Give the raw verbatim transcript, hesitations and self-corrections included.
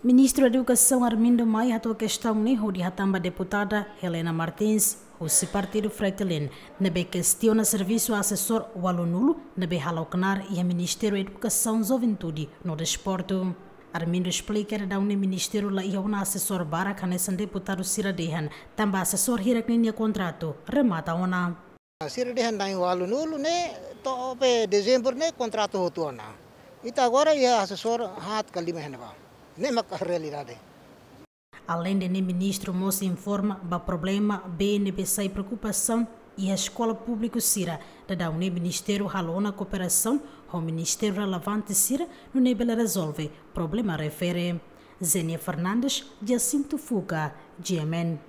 Ministru Edukasaun Armindo Maia hato'o kestaun ne'e hodi hatán ba deputada Helena Martins, husi partidu Fretilin, ne'ebé kestiona servisu asesór ualunulu ne'ebé hala'o knaar iha Ministériu Edukasaun, Juventude no Desportu. Armindo esplika daudaun ne'e ministériu la iha ona asesór barak hanesan deputadu sira dehan, tanba asesór hirak ninia kontratu remata ona. Sira dehan na'in ualunulu ne'e to'o be Dezembru ne'e kontratu hotu ona. Ita agora iha asesór haat ka lima iha ne'ebá. Ne'e mak realidade. Aleinde ne'e, ministru mós informa ba problema bee ne'ebé sai preokupasaun iha eskola públiku sira. Daudaun ne'e ministériu halo ona kooperasaun ho ministériu relevante sira, nune'e bele rezolve problema refere. Zenia Fernandes, Jacinto Fuca, G M N.